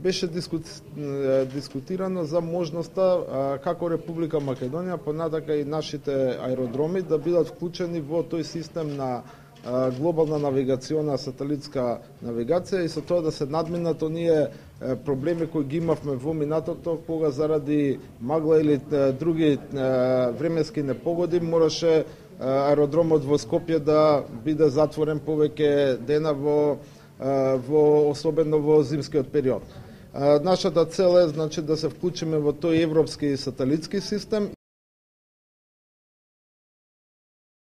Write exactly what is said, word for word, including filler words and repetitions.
беше дискутирано за можноста како Република Македонија, понатака и нашите аеродроми да бидат вклучени во тој систем на глобална навигациона сателитска навигација и со тоа да се надминат оние проблеми кои ги имавме во минатото, кога заради магла или други временски непогоди мораше аеродромот во Скопје да биде затворен повеќе дена во во особено во зимскиот период. Нашата цел е значи да се вклучиме во тој европски сателитски систем